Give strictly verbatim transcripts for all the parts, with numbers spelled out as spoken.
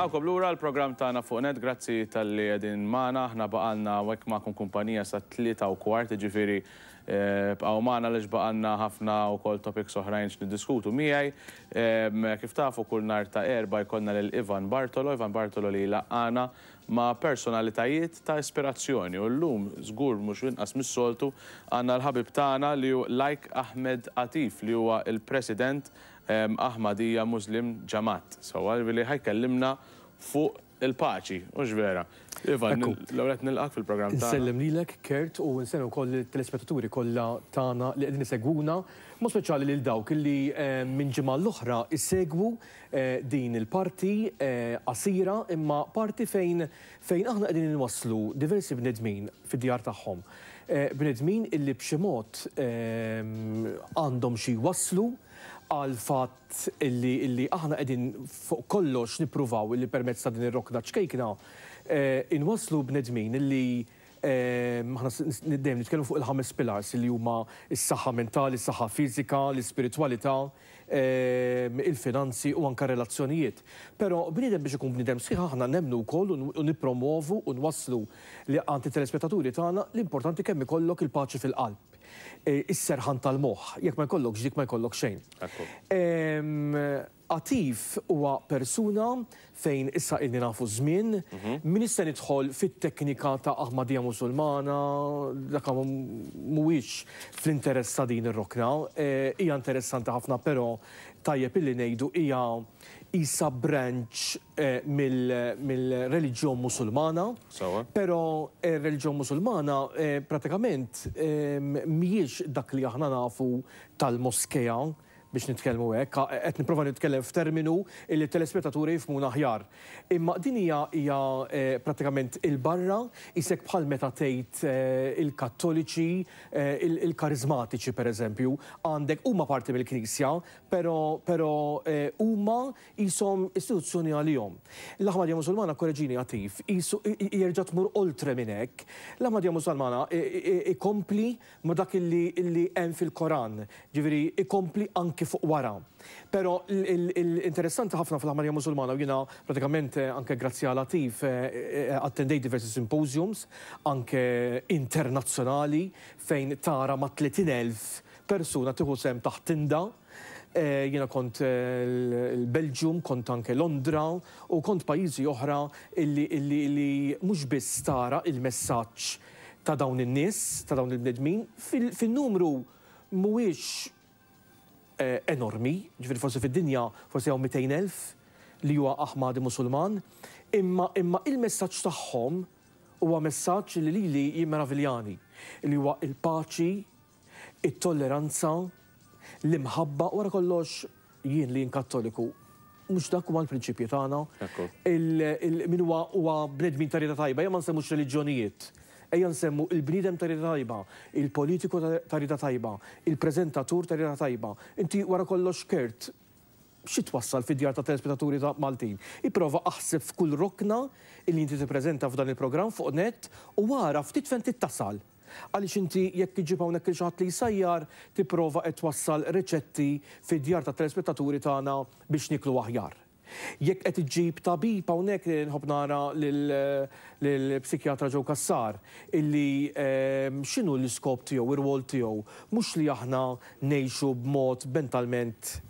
Nilqgħukom lura l-programm tagħna fuq Net, grazzi talli qegħdin magħna, aħna baqgħalna hekk magħkom kumpanija sa tlieta u kwart, ġifieri eh, bqgħu magħna għaliex baqgħalna ħafna wkoll topics oħrajn x'niddiskutu miegħi. Em, Kif tafu, kull nhar ta' Erbgħa jkollna lil Ivan Bartolo, Ivan Bartolo li laqqagħna ma' personalitajiet ta' ispirazzjoni, u llum żgur mhux inqas mis-soltu għandna l-ħabib tagħna li hu Laiq Ahmed Atif, li huwa il-President em, Ahmadiyya Muslim Jamaat. So li ħa jkellimna fuq il-paċi, hux vera? Ivan, Ekku. l-ewwel qed nilqgħek fil-programm tagħna. Nsellem lilek, Kurt, u nsellem ukoll il-telespettaturi kollha tagħna li qegħdin isegwuna, mod speċjali lil dawk li eh, minn ġimgħa l-oħra isegwu eh, din il-parti eh, qasira imma parti fejn fejn aħna qegħdin inwasslu diversi bnedmin fid-djar tagħhom. Eh, Bnedmin illi b'xi mod eh, għandhom xi jwasslu għal fatt illi, illi aħna qegħdin fuq kollox nippruvaw illi permezz ta' din ir-rokna ċkejkna eh, inwasslu bnedmin illi eh, aħna s- dejjem nitkellmu fuq il-ħames pillars, li huma s-saħħa mentali, s-saħħa fiżika, l-ispiritwalità, eh, il-finanzi u anka relazzjonijiet. Però bniedem biex ikun bniedem sħiħ, aħna nemmnu wkoll u n- u nippromovu u nwasslu li għand it-telespettaturi tagħna l-importanti kemm ikollok il-paċi fil-qalb. Eh, Is-serħan tal-moħħ, jekk ma jkollokx dik, ma jkollok xejn. Ekku. Em, Atif huwa persuna fejn issa ilni nafu żmien, min issa nidħol fit-teknika ta' Ahmadija Musulmana, dak mhuwiex fl-interess ta' din ir-rokna. Eh, Hija interessanti ħafna, però tajjeb illi ngħidu hija isa branch eh, mill- mill-reliġjon Musulmana. Sewwa. Però ir-reliġjon Musulmana eh, pratikament eh, mhijiex dak li aħna nafu tal-moskea, biex nitkellmu hekk, qed nipprova nitkellem f'terminu li telespettaturi jifhmuna aħjar. Imma din hija hija eh, pratikament il-barra, isek bħal meta tgħid eh, il-Kattoliċi, eh, il- il-Karizmatiċi pereżempju, għandek huma parti mill-Knisja, però però eh, huma jisom istituzzjoni għalihom. L-Aħmadija Musulmana, korreġini Atif, jisu jerġa' tmur oltre minn hekk. L-Aħmadija Musulmana ikompli ma dak illi illi hemm fil-Koran, ġifieri ikompli anki fuq wara. Però l-interessanti ħafna fl-Aħmadija Musulmana, u jiena pratikament eh, anke grazzi għal Atif eh, eh, attendejt diversi symposiums anke internazzjonali fejn tara ma' tletin elf persuna tieħu sehem taħt tinda. Eh, Jiena kont eh, l-Belġium, kont anke Londra u kont pajjiżi oħra illi, illi, illi mhux biss tara il-messaġġ ta' dawn in-nies, ta' dawn il-bnedmin, fil- fil-numru mhuwiex eh, enormi, ġifieri forsi fid-dinja forsi hawn mitejn elf li huwa Aħmadi Musulman, imma imma il-messaġġ tagħhom huwa messaġġ li lili jimmeraviljani, li huwa il-paċi, it-tolleranza, l-imħabba, wara kollox jien li jien Kattoliku, mhux dak huma l-prinċipji tagħna? Ekku. Il- il- Min huwa huwa bnedmin ta' rieda tajba, ejja ma nsemmux reliġjonijiet. Ejja nsemmu il-bniedem ta' rieda tajba, il-politiku ta' ta' rieda tajba, il-preżentatur ta' rieda tajba. Inti wara kollox, Kurt, xi twassal fid-djar ta' telespettaturi ta' Maltin? Ipprova aħseb f'kull rokna illi inti tippreżenta f'dan il-programm fuq Net u wara ftit fejn tittasal. Għaliex inti jekk iġib hawnhekk il xi ħadd li jsajjar, tipprova qed twassal riċetti fid-djar ta' telespettaturi tagħna biex niklu aħjar. Jekk qed iġġib tabib hawnhekk, nħobb nara lill-psikjatra Joe Cassar, illi ehm, x'inhu l-iskop tiegħu, ir-rwol tiegħu, mhux li aħna ngħixu b'mod mentalment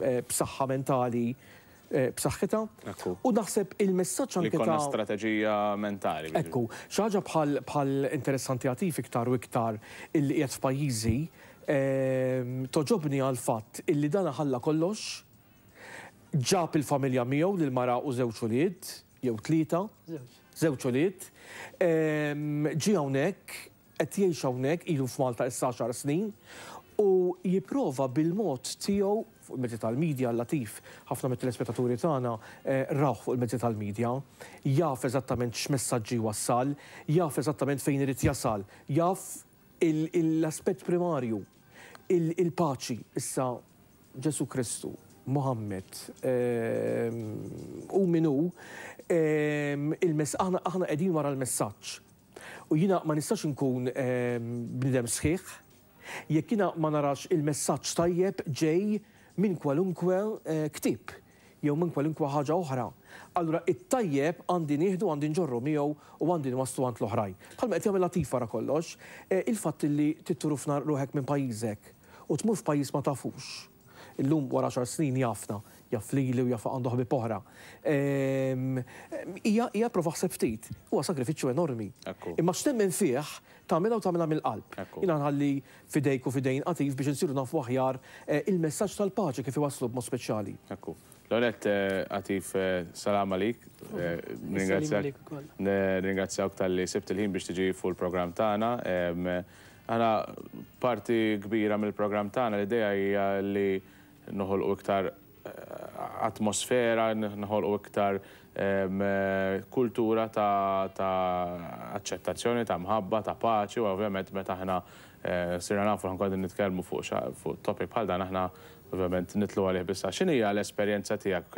eh, b'saħħa mentali eh, b'saħħitha. Ekku. U naħseb il-messaġġ Li anke konna ta' strateġija mentali. Ekku, xi ħaġa bħal, bħal interessanti Atif iktar u iktar illi qiegħed f'pajjiżi, ehm, togħġobni għal fatt illi dan ħalla kollox, ġab il-familja miegħu, lil mara u żewġ ulied, jew tlieta, żewġ ulied, ehm, ġie hawnhekk, qed jgħix hawnhekk, ilu f'Malta issa għaxar snin, u jipprova bil-mod tiegħu fuq il-mezzi tal-medja. Latif, ħafna mit-telespettaturi tagħna eh, rawh fuq il-mezzi tal-medja, jaf eżattament x'messaġġi wassal, jaf eżattament fejn irid jasal, jaf il- l-aspett primarju, il- il-paċi. Issa Ġesu Kristu, Muhammed, ehm, u minu, ehm, il-mess aħna aħna qegħdin wara l-messaġġ. U jiena ma nistax inkun ehm, bniedem sħiħ jekk jiena ma narax il-messaġġ tajjeb ġej minn kwalunkwe eh, ktieb. jew minn kwalunkwe ħaġa oħra. Allura it-tajjeb għandi nieħdu, għandi nġorru miegħu u għandi nwasslu għand l-oħrajn. Bħalma qed jagħmel Latif wara kollox, il-fatt li titturufna ruħek minn pajjiżek u tmur f'pajjiż ma tafux. Illum wara għaxar snin jafna, jaf lili u jaf għandu ħabib oħra. Hija hija prova ħseb ftit, huwa sagrifiċċju enormi. Imma x'temmen fih tagħmilha u tagħmilha mill-qalb. Jiena nħalli fidejk u fidejn Atif biex insiru nafu aħjar il-messaġġ tal-paċi kif iwasslu b'mod speċjali. Ekku. L-għonet, Atif, salam għalik. Ringrazzjak talli sibt il-ħin biex tiġi fuq il-programm tagħna. Aħna parti kbira mill-programm tagħna l-idea hija li noħolqu iktar atmosfera, noħolqu iktar kultura ta' aċċettazzjoni, ta' mħabba, ta' paċi, u ovvjament meta aħna sirna nafu ħankun nitkellmu fuq topic bħal dan aħna ovvjament nitlu għalih bissa. X'inhi l-esperjenza tiegħek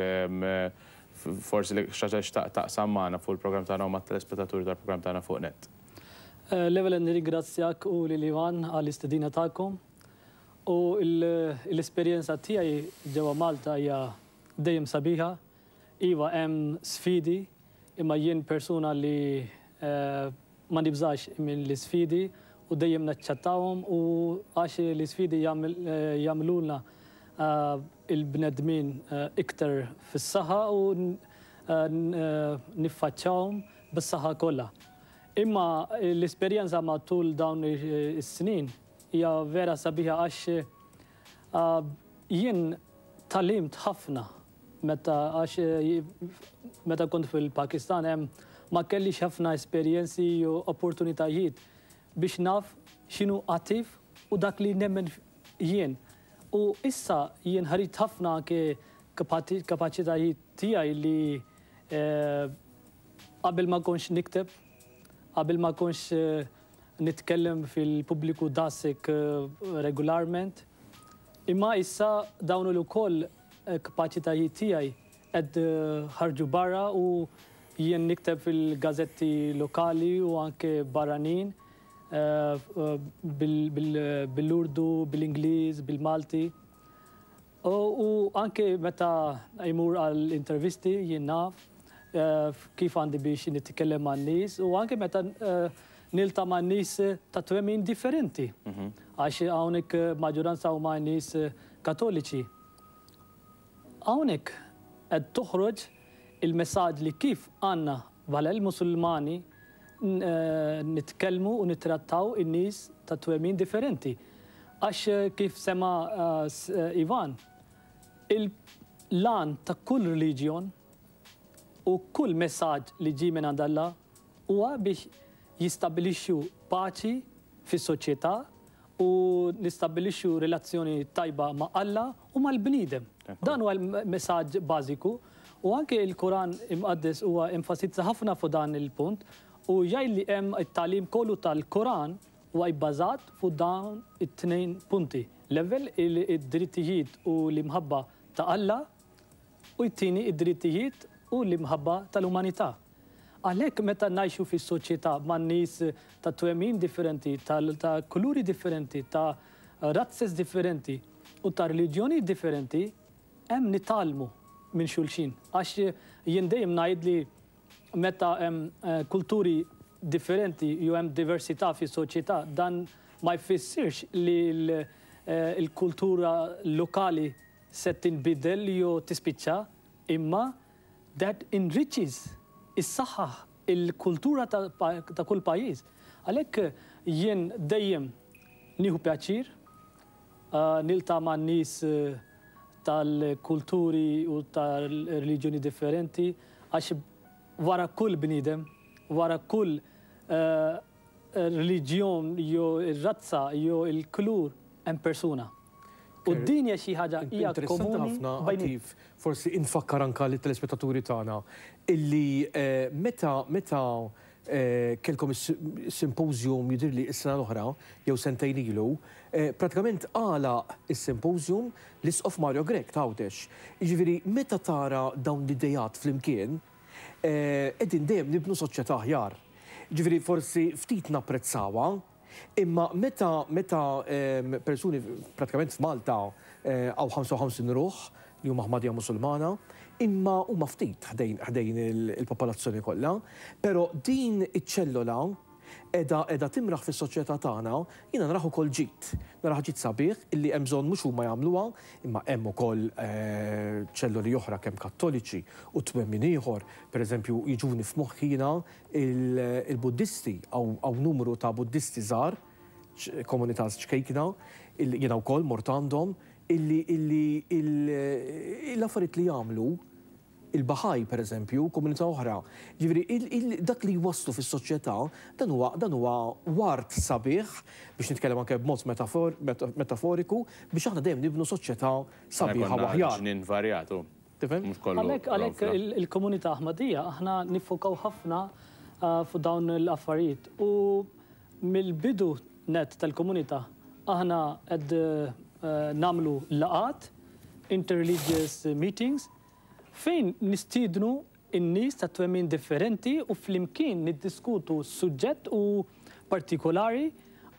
forsi li xi ħaġa xtaqt taqsam magħna fuq il-programm tagħna u mat-telespettaturi tal-programm tagħna fuq net? L-ewwel nirringrazzjak u lil Ivan għall-istedina tagħkom. U l-esperjenza tiegħi ġewwa Malta hija dejjem sabiħa. Iva hemm sfidi, imma jien persuna li ma nibżax minn l-isfidi u dejjem naċċettawhom, u għax l-isfidi jagħmlulna il-bnedmin iktar fis-saħħa u niffaċċawhom bis-saħħa kollha. Imma l-esperjenza matul dawn is-snin hija vera sabiħa għax jien tgħallimt ħafna meta għax meta kont fil-Pakistan hemm ma kellix ħafna esperjenzi u opportunitajiet biex naf x'inhu Atif u dak li nemmen jien. U issa jien ħarit ħafna anke kapaċitajiet tiegħi li qabel ma kontx nikteb, qabel ma kontx nitkellem fil-pubbliku dasek regolarment. Imma issa dawn ukoll kapaċitajiet tiegħi qed ħarġu barra u jien nikteb fil-gazzetti lokali u anke barranin bil-Urdu, bil-Ingliż, bil-Malti. U anke meta jmur għall-intervisti jien naf kif għandi biex nitkellem man-nies u anke meta nilta ma' nies ta' twemmin differenti. Għax hawnhekk maġġoranza huma nies Katoliċi. Hawnhekk qed toħroġ il-messaġġ li kif għandna bħala l-Musulmani nitkellmu u nittrattaw in-nies ta' twemmin differenti. Għax kif sema Ivan, il-lan ta' kull reliġjon u kull messaġġ li ġie minn għand Alla huwa biex jistabilixxu paċi fis-soċjetà u nistabbilixxu relazzjoni tajba ma' Alla u mal-bniedem. Dan huwa l-messaġġ bażiku u anke il-Koran imqaddes huwa enfasizza ħafna fuq dan il-punt u jgħid li hemm it-tagħlim kollu tal-Koran huwa bbażat fuq dawn it-tnejn punti. L-ewwel id-drittijiet u l-imħabba ta' Alla u t-tieni id-drittijiet u l-imħabba tal-umanità. Għalhekk meta ngħixu fis-soċjetà ma' nies ta' twemmin differenti, ta' kuluri differenti, ta' razzes differenti u ta' reliġjoni differenti, hemm nitgħallmu minn xulxin. Għax jien dejjem ngħid li meta hemm kulturi differenti jew hemm diversità fis-soċjetà, dan ma jfissirx li l-kultura lokali se tinbidel jew tispiċċa, imma that enriches is-saħħa il-kultura ta' kull pajjiż. Għalhekk jien dejjem nieħu pjaċir nilta' ma' nies tal-kulturi u tal-reliġjoni differenti, għax wara kull bniedem, wara kull reliġjon jew ir-razza jew il-kulur hemm persuna. U d-dinja xi ħaġa hija komuni. Atif, forsi infakkar anka lit-telespettaturi tagħna illi meta meta kellkom is-symposium jidhirli s-sena l-oħra jew sentejn ilu, pratikament għalaq is-symposium l-Isqof Mario Grech ta' Għawdex. Jiġifieri meta tara dawn l-idejat flimkien, qegħdin dejjem nibnu soċjetà aħjar. Jiġifieri forsi ftit napprezzawha, imma meta meta persuni pratikament f'Malta għaw ħamsa u ħamsin ruħ li huma Aħmadija Musulmana, Imma huma ftit ħdejn ħdejn il-popolazzjoni kollha, però din iċ-ċellola edha edha timraħ fis-soċjetà tagħna, jiena naraħ ukoll ġid. Naraħ ġid sabiħ illi hemm bżonn mhux huma jagħmluha, imma hemm ukoll eh, ċelloli oħra kemm Kattoliċi u twemmin ieħor, pereżempju jiġuni f'moħħi jiena il-Buddisti għaw numru ta' Buddisti żgħar, komunità ċkejkna, jiena wkoll mort għandhom, illi illi l-affarijiet li jagħmlu il-Baħaj, per eżempju, komunità oħra. Ġifieri, dak li jwasslu fis-soċjetà, dan huwa dan huwa ward sabiħ biex nitkellem anke b'mod metaforiku biex aħna dejjem nibnu soċjetà sabiħa u aħjar. Ġnien varjatu. Tifhem? Għalhekk għalhekk il-komunità Aħmadija aħna niffokaw ħafna uh, fuq dawn l-affarijiet u mill-bidu net tal-komunità aħna qed uh, nagħmlu laqgħat, interreligious meetings, fejn nistiednu in-nies ta' twemmin differenti u flimkien niddiskutu suġġett u partikolari,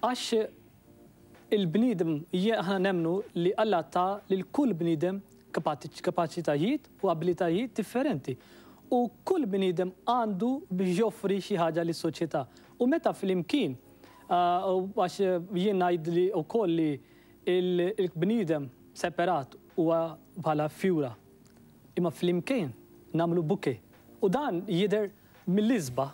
għax il-bniedem, aħna nemmnu li Alla ta lil kull bniedem kapaċitajiet u abilitajiet differenti. U kull bniedem għandu biex joffri xi ħaġa lis-soċjetà. U meta flimkien, għax jien ngħid li wkoll li il-bniedem separat huwa bħala fjura, imma flimkien nagħmlu bouquet. U dan jidher mill-isbaħ.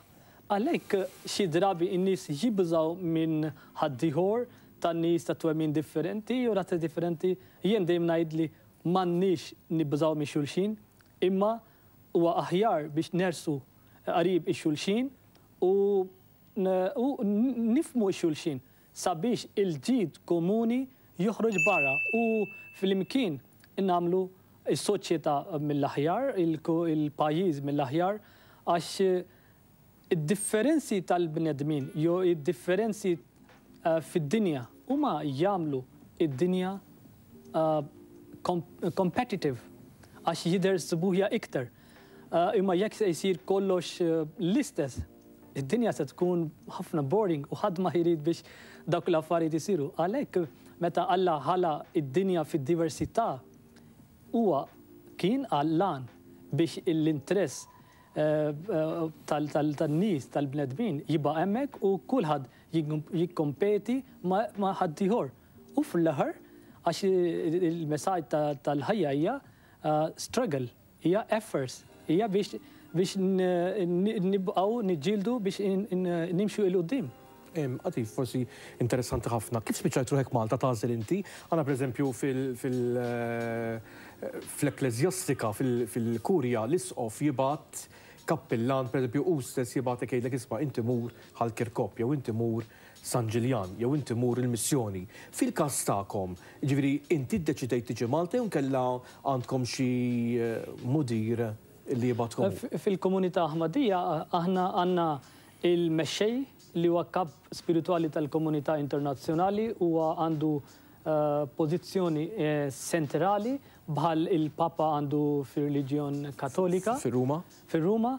Għalhekk xi drabi n-nies jibżaw minn ħaddieħor tan-nies ta' twemmin differenti u razzi differenti. Jien dejjem ngħid li m'għandniex nibżaw minn xulxin, imma huwa aħjar biex nersqu qarib ix-xulxin u nifhmu x-xulxin sabiex il-ġid komuni joħroġ barra u flimkien nagħmlu is-soċjetà mill-aħjar, il-pajjiż mill-aħjar, għax id-differenzi tal-bnedmin jew id-differenzi fid-dinja huma jagħmlu id-dinja competitive għax jidher sbuħja iktar. Imma jekk se jsir kollox l-istess, id-dinja se tkun ħafna boring u ħadd ma jrid biex dawk l-affarijiet isiru. Għalhekk meta Alla ħalaq id-dinja fid-diversità, huwa kien għall-għan biex l-interess tan-nies tal-bnedmin jibqa' hemmhekk u kulħadd jikkompeti ma' ħaddieħor. U fl-aħħar, għax il-messaġġ tal-ħajja hija struggle, hija efforts, hija biex biex nibqgħu niġġieldu biex nimxu 'l quddiem. Għati, forsi interessanti ħafna. Kif spiċċajt ruħek Malta tagħżel inti? Għana per eżempju fil-ekklesjastika, fil-kurja, l-isqof jibgħat kappillan, per eżempju, u stess jibgħat jgħidlek, "Isma', inti mur Ħal Kirkop, jew inti mur San Ġiljan, jew inti mur il-missjoni." Fil-każ tagħkom, ġifieri inti ddeċidejt tiġi Malta jew kella għandkom xi mudir li jibgħatkom? Fil-komunità Aħmadija aħna għandna il-mexxej li huwa kap spirituali tal-komunità internazzjonali, huwa għandu pożizzjoni centrali bħal il-Papa għandu fir-reliġjon Katolika. Fir-Ruma? Fir-Ruma.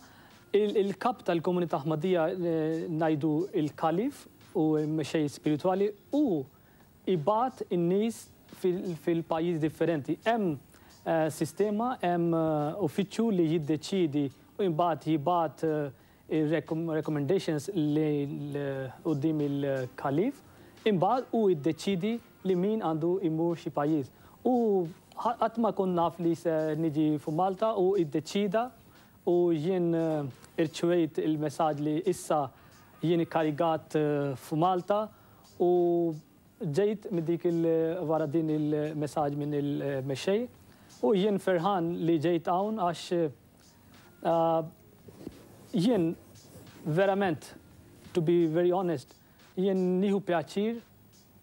Il-kap tal-komunità Aħmadija ngħidu il-kalif u mexxej spirituali u jibgħat in-nies fil-pajjiż differenti. Hemm sistema, hemm uffiċċju li jiddeċidi u imbagħad jibgħat il-recommendations li quddiem il-kalif, imbagħad u jiddeċidi li min għandu imur xi pajjiż. U qatt ma kont naf li se niġi fu Malta u iddeċida u jien irċevejt il-messaġġ li issa jien ikkarigat fu Malta u ġejt minn dik wara din il-messaġġ minn il-mexxej u jien ferħan li ġejt hawn għax jien verament, to be very honest, jien nieħu pjaċir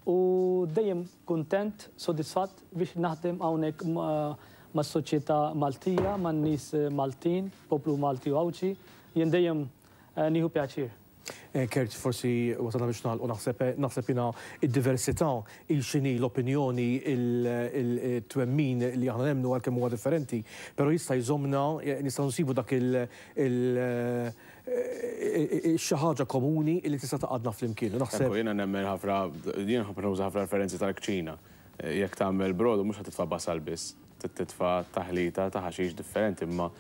u dejjem kuntent, sodisfatt biex naħdem hawnhekk mas-soċjetà Maltija, man-nies Maltin, poplu Malti u Għawdxi, jien dejjem nieħu pjaċir. Kurt, forsi wasalna biex nagħlqu, naħseb naħseb jiena id-diversità, il-xini, l-opinjoni, il-twemmin li aħna nemmnu għalkemm huwa differenti, però jista' jżommna, nistgħu nsibu dak il- xi ħaġa komuni li tista' tgħaqqadna flimkien. Naħseb Jiena nemmen ħafna, jien ħafna nuża ħafna referenzi tal-kċina. Jekk tagħmel brodu mhux ħa titfa' basal biss. titfa' taħlita ta' ħaxix differenti, imma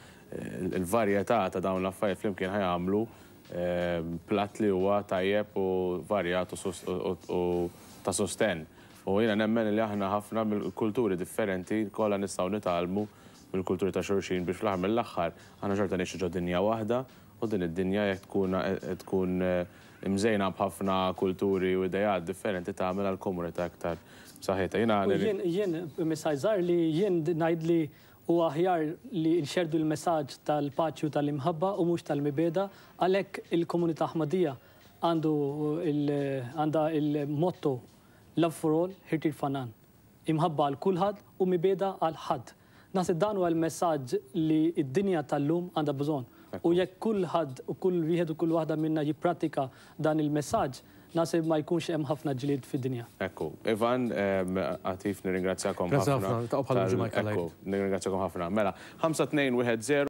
il-varjetà ta' dawn l-affarijiet flimkien ħa jagħmlu platt li huwa tajjeb u varjat u ta' sosten. U jiena nemmen li aħna ħafna mill-kulturi differenti kollha nistgħu nitgħallmu mill-kulturi ta' xulxin biex fl-aħħar mill-aħħar aħna xorta ngħixu ġo dinja waħda, u din id-dinja jekk tkun tkun imżejna b'ħafna kulturi u idejat differenti tagħmel għall-komunità aktar b'saħħitha. Jiena Jien jien messaġġ żgħar li jien ngħid li huwa aħjar li nxerdu l-messaġġ tal-paċi u tal-imħabba u mhux tal-mibegħda. Għalhekk il-komunità Aħmadija għandu għandha il-motto "Love for all, hatred for none". Imħabba għal kulħadd u mibegħda għal ħadd. Naħseb dan huwa l-messaġġ li d-dinja tal-lum għandha bżonn. U jekk kulħadd u kull wieħed u kull waħda minna jippratika dan il-messaġġ, naħseb ma jkunx hemm ħafna ġlied fid-dinja. Ekku, Ivan, Atif, nirringrazzjakom Grazzi ħafna. ħafna, ta' bħal ġimgħa. Ekku, nirringrazzjakom ħafna. Mela, ħamsa tnejn wieħed żero.